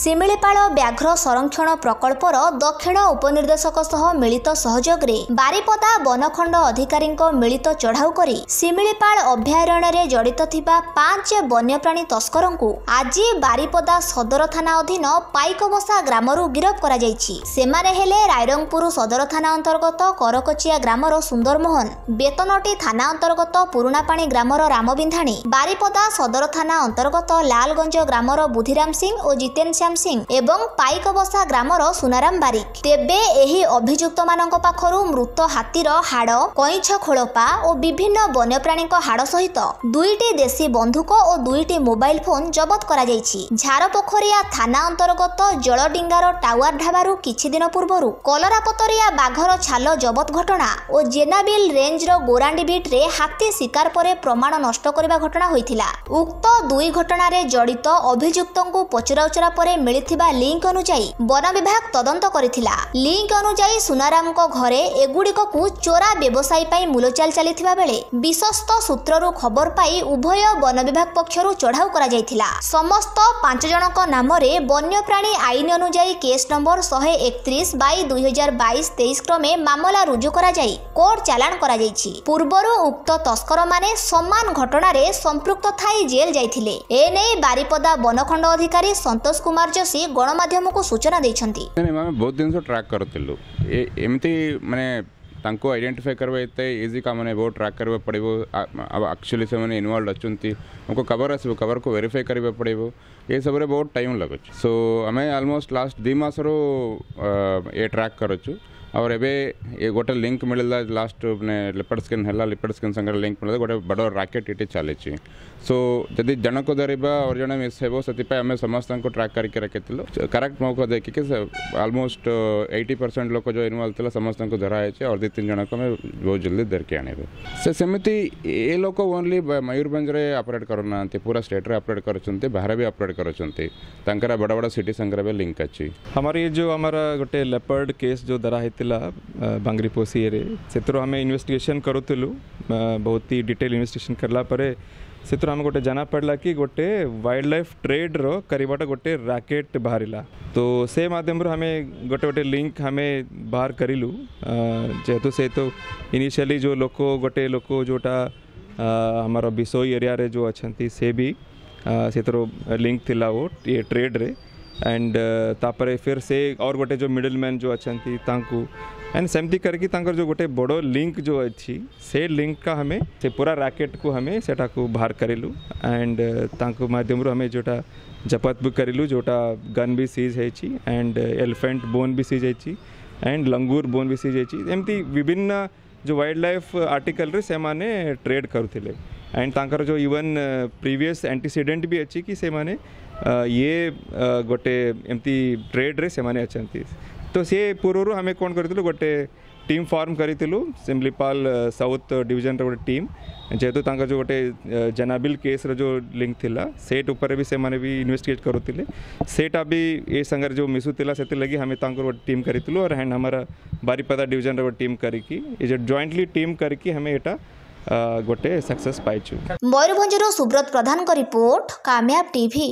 ଶିମିଳିପାଳ ବ୍ୟାଘ୍ର ସଂରକ୍ଷଣ ପ୍ରକଳ୍ପର ଦକ୍ଷିଣ ଉପନିର୍ଦ୍ଦେଶକ ସହ ମିଳିତ ସହଯୋଗରେ ବାରିପଦା ବନଖଣ୍ଡ ଅଧିକାରୀଙ୍କ ମିଳିତ ଚଢ଼ାଉ କରି ଶିମିଳିପାଳ ଅଭୟାରଣ୍ୟରେ ଜଡ଼ିତ ଥିବା 5 ବନ୍ୟପ୍ରାଣୀ ତସ୍କରଙ୍କୁ ଆଜି ବାରିପଦା ସଦର ଥାନା ଅଧୀନ ପାଇକବସା ଗ୍ରାମରୁ ଗିରଫ କରାଯାଇଛି। ସେମାନେ ହେଲେ ରାଇରଙ୍ଗପୁର ସଦର ଥାନା ଅନ୍ତର୍ଗତ କରକଚିଆ ଗ୍ରାମର ସୁନ୍ଦରମୋହନ, ବେତନଟି ଥାନା ଅନ୍ତର୍ଗତ ପୁରୁଣାପାଣି ଗ୍ରାମର ରାମବିନ୍ଧାଣୀ, ବାରିପଦା ସଦର ଥାନା ଅନ୍ତର୍ଗତ ଲାଲଗଞ୍ଜ ଗ୍ରାମର ବୁଦ୍ଧିରାମ ସିଂ ଓ ଜିତେନ ଶ୍ୟାମ ସିଂ ଏବଂ ପାଇକବସା ଗ୍ରାମର ସୁନାରାମ ବାରିକ। ତେବେ ଏହି ଅଭିଯୁକ୍ତମାନଙ୍କ ପାଖରୁ ମୃତ ହାତୀର ହାଡ଼, କଇଁଛ ଖୋଳପା ଓ ବିଭିନ୍ନ ବନ୍ୟପ୍ରାଣୀଙ୍କ ହାଡ଼ ସହିତ 2ଟି ଦେଶୀ ବନ୍ଧୁକ ଓ 2ଟି ମୋବାଇଲ ଫୋନ୍ ଜବତ କରାଯାଇଛି। ଝାରପୋଖରିଆ ଥାନା ଅନ୍ତର୍ଗତ ଜଳଡିଙ୍ଗାର ଟାୱାର ଢାବାରୁ କିଛି ଦିନ ପୂର୍ବରୁ କଲରାପତରିଆ ବାଘର ଛାଲ ଜବତ ଘଟଣା ଓ ଜେନାବିଲ ରେଞ୍ଜର ଗୋରାଣ୍ଡି ବିଟ୍ରେ ହାତୀ ଶିକାର ପରେ ପ୍ରମାଣ ନଷ୍ଟ କରିବା ଘଟଣା ହୋଇଥିଲା। ଉକ୍ତ 2 ଘଟଣାରେ ଜଡ଼ିତ ଅଭିଯୁକ୍ତଙ୍କୁ ପଚରାଉଚରା ପରେ ମିଳିଥିବା ଲିଙ୍କ ଅନୁଯାୟୀ ବନ ବିଭାଗ ତଦନ୍ତ କରିଥିଲା। ଲିଙ୍କ ଅନୁଯାୟୀ ସୁନାରାମଙ୍କ ଘରେ ଏଗୁଡ଼ିକକୁ ଚୋରା ବ୍ୟବସାୟୀ ପାଇଁ ମୂଲଚାଲ ଚାଲିଥିବା ବେଳେ ବିଶ୍ୱସ୍ତ ସୂତ୍ରରୁ ଖବର ପାଇ ଉଭୟ ବନ ବିଭାଗ ପକ୍ଷରୁ ଚଢ଼ାଉ କରାଯାଇଥିଲା। ସମସ୍ତ 5 ଜଣଙ୍କ ନାମରେ ବନ୍ୟପ୍ରାଣୀ ଆଇନ ଅନୁଯାୟୀ କେସ୍ ନମ୍ବର 131/2022-23 କ୍ରମେ ମାମଲା ରୁଜୁ କରାଯାଇ କୋର୍ଟ ଚାଲାଣ କରାଯାଇଛି। ପୂର୍ବରୁ ଉକ୍ତ ତସ୍କରମାନେ ସମାନ ଘଟଣାରେ ସମ୍ପୃକ୍ତ ଥାଇ ଜେଲ୍ ଯାଇଥିଲେ। ଏନେଇ ବାରିପଦା ବନଖଣ୍ଡ ଅଧିକାରୀ ସନ୍ତୋଷ କୁମାର ଯୋଶୀ ଗଣମାଧ୍ୟମକୁ ସୂଚନା ଦେଇଛନ୍ତି। ନାଇଁ, ଆମେ ବହୁତ ଜିନିଷ ଟ୍ରାକ୍ କରୁଥିଲୁ। ଏମିତି ମାନେ ତାଙ୍କୁ ଆଇଡେଣ୍ଟିଫାଏ କରିବା ଏତେ ଇଜି କାମ ନାହିଁ, ବହୁତ ଟ୍ରାକ୍ କରିବାକୁ ପଡ଼ିବ। ଆକ୍ଚୁଆଲି ସେମାନେ ଇନଭଲ୍ଭ ଅଛନ୍ତି, ଆମକୁ କଭର ଆସିବ, କଭରକୁ ଭେରିଫାଏ କରିବାକୁ ପଡ଼ିବ, ଏସବୁରେ ବହୁତ ଟାଇମ୍ ଲାଗୁଛି। ସୋ ଆମେ ଅଲମୋଷ୍ଟ ଲାଷ୍ଟ 2 ମାସରୁ ଏ ଟ୍ରାକ୍ କରୁଛୁ। ଆଉ ଏବେ ଏ ଗୋଟେ ଲିଙ୍କ ମିଳିଲା, ଲାଷ୍ଟ ମାନେ ଲେପର୍ଡ ସ୍କିନ୍ ହେଲା, ଲେପର୍ଡ ସ୍କିନ୍ ସାଙ୍ଗରେ ଲିଙ୍କ ମିଳିଲା, ଗୋଟେ ବଡ଼ ରାକେଟ୍ ଏଠି ଚାଲିଛି। ସୋ ଯଦି ଜଣକୁ ଧରିବା ଆଉ ଜଣେ ମିସ୍ ହେବ, ସେଥିପାଇଁ ଆମେ ସମସ୍ତଙ୍କୁ ଟ୍ରାକ୍ କରିକି ରଖିଥିଲୁ। କରେକ୍ଟ ମୌକା ଦେଖିକି ଅଲମୋଷ୍ଟ 80% ଲୋକ ଯେଉଁ ଇନଭଲ୍ଭ ଥିଲା ସମସ୍ତଙ୍କୁ ଧରା ହେଇଛି, ଆଉ 2-3 ଜଣକୁ ଆମେ ବହୁତ ଜଲ୍ଦି ଧରିକି ଆଣିବୁ। ସେ ସେମିତି ଏ ଲୋକ ଓନ୍ଲି ମୟୂରଭଞ୍ଜରେ ଅପରେଟ୍ କରୁନାହାନ୍ତି, ପୁରା ଷ୍ଟେଟ୍ରେ ଅପରେଟ୍ କରୁଛନ୍ତି, ବାହାରେ ବି ଅପରେଟ୍ କରୁଛନ୍ତି। ତାଙ୍କର ବଡ଼ ବଡ଼ ସିଟି ସାଙ୍ଗରେ ବି ଲିଙ୍କ ଅଛି। ଆମର ଏ ଯେଉଁ ଆମର ଗୋଟେ ଲେପର୍ଡ କେସ୍ ଯେଉଁ ଧରା ହେଇଥିଲା ବାଙ୍ଗରିପୋଷିରେ, ସେଥିରୁ ଆମେ ଇନଭେଷ୍ଟିଗେସନ୍ କରୁଥିଲୁ। ବହୁତ ହି ଡିଟେଲ୍ ଇନଭେଷ୍ଟିଗେସନ୍ କଲା ପରେ ସେଥିରୁ ଆମେ ଗୋଟେ ଜଣା ପଡ଼ିଲା କି ଗୋଟେ ୱାଇଲ୍ଡ ଲାଇଫ୍ ଟ୍ରେଡ୍ର କରିବାଟା ଗୋଟେ ରାକେଟ୍ ବାହାରିଲା। ତ ସେ ମାଧ୍ୟମରୁ ଆମେ ଗୋଟେ ଗୋଟେ ଲିଙ୍କ ଆମେ ବାହାର କରିଲୁ। ଯେହେତୁ ସେ ତ ଇନିସିଆଲି ଯେଉଁ ଲୋକ, ଗୋଟେ ଲୋକ ଯେଉଁଟା ଆମର ବିଷୋଇ ଏରିଆରେ ଯେଉଁ ଅଛନ୍ତି, ସେ ବି ସେଥିରୁ ଲିଙ୍କ ଥିଲା ଓ ଏ ଟ୍ରେଡ୍ରେ। ଆଣ୍ଡ ତାପରେ ଫିର୍ ସେ और ଗୋଟେ ଯେଉଁ ମିଡଲ୍ ମ୍ୟାନ୍ ଯେଉଁ ଅଛନ୍ତି ତାଙ୍କୁ, ଆଣ୍ଡ ସେମିତି କରିକି ତାଙ୍କର ଯେଉଁ ଗୋଟେ ବଡ଼ ଲିଙ୍କ ଯେଉଁ ଅଛି, ସେ ଲିଙ୍କଟା ଆମେ ସେ ପୁରା ରାକେଟ୍କୁ ଆମେ ସେଟାକୁ ବାହାର କରିଲୁ। ଆଣ୍ଡ ତାଙ୍କ ମାଧ୍ୟମରୁ ଆମେ ଯେଉଁଟା ଜବତ ବି କରିଲୁ, ଯେଉଁଟା ଗନ୍ ବି ସିଜ୍ ହେଇଛି, ଆଣ୍ଡ ଏଲିଫେଣ୍ଟ ବୋନ୍ ବି ସିଜ୍ ହେଇଛି, ଆଣ୍ଡ ଲଙ୍ଗୁର ବୋନ୍ ବି ସିଜ୍ ହେଇଛି। ଏମିତି ବିଭିନ୍ନ ଯେଉଁ ୱାଇଲ୍ଡ ଲାଇଫ୍ ଆର୍ଟିକଲ୍ରେ ସେମାନେ ଟ୍ରେଡ୍ କରୁଥିଲେ। ଆଣ୍ଡ ତାଙ୍କର ଯେଉଁ ଇଭନ୍ ପ୍ରିଭିୟସ୍ ଆଣ୍ଟିସିଡେଣ୍ଟ ବି ଅଛି କି ସେମାନେ ଇଏ ଗୋଟେ ଏମିତି ଟ୍ରେଡ୍ରେ ସେମାନେ ଅଛନ୍ତି। ତ ସେ ପୂର୍ବରୁ ଆମେ କ'ଣ କରିଥିଲୁ, ଗୋଟେ ଟିମ୍ ଫର୍ମ କରିଥିଲୁ, ସିମଲିପାଲ ସାଉଥ୍ ଡିଭିଜନର ଗୋଟେ ଟିମ୍। ଯେହେତୁ ତାଙ୍କର ଯେଉଁ ଗୋଟେ ଜନାବିଲ କେସ୍ର ଯେଉଁ ଲିଙ୍କ ଥିଲା, ସେଟ୍ ଉପରେ ବି ସେମାନେ ବି ଇନଭେଷ୍ଟିଗେଟ୍ କରୁଥିଲେ, ସେଇଟା ବି ଏ ସାଙ୍ଗରେ ଯେଉଁ ମିଶୁଥିଲା, ସେଥିଲାଗି ଆମେ ତାଙ୍କର ଗୋଟେ ଟିମ୍ କରିଥିଲୁ। और ଆଣ୍ଡ ଆମର ବାରିପଦା ଡିଭିଜନର ଗୋଟେ ଟିମ୍ କରିକି, ଏ ଯେଉଁ ଜଏଣ୍ଟଲି ଟିମ୍ କରିକି ଆମେ ଏଇଟା ଗୋଟେ ସକ୍ସେସ୍ ପାଇଛୁ। ମୟୂରଭଞ୍ଜରୁ ସୁବ୍ରତ ପ୍ରଧାନଙ୍କ ରିପୋର୍ଟ, କାମୟାବ ଟିଭି।